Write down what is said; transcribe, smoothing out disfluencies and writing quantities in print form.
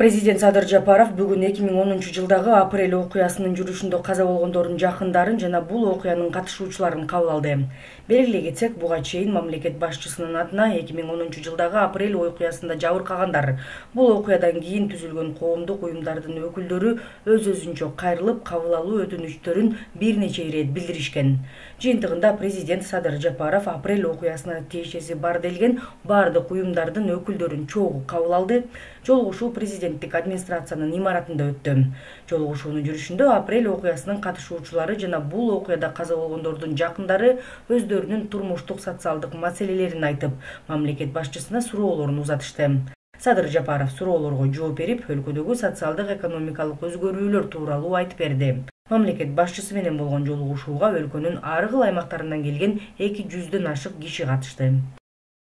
Президент Садыр Жапаров бүгүн 2010-жылдагы апрель окуясынын жүрүшүндө каза болгондордун жакындарын жана бул окуянын катышуучуларын кабыл алды. Белгилей кетсек, буга чейин мамлекет башчысынын атына 2010-жылдагы апрель окуясында жабыркагандар бул окуядан кийин түзүлгөн коомдук уюмдардын өкүлдөрү өз-өзүнчө кайрылып кабыл алуу өтүнүчтөрүн бир нече ирет билдиришкен. Жыйынтыгында президент Садыр Жапаров апрель окуясына тиешеси бар делген бардык уюмдардын өкүлдөрүн чогуу кабыл алды. Жолугушуу президенттик администрациянын имаратында өттү. Жолугушуунун жүрүшүндө апрель окуясынын катышуучулары жана бул окуяда каза болгондордун жакындары өздөрүнүн турмуштук социалдык маселелерин айтып, мамлекет башчысына суроолорун узатышты. Садыр Жапаров суроолорго жооп берип, өлкөдөгү социалдык экономикалык өзгөрүүлөр тууралуу айтып берди. Мамлекет башчысы менен болгон жолугушууга өлкөнүн ар кыл аймактарынан келген 200дөн ашык киши катышты.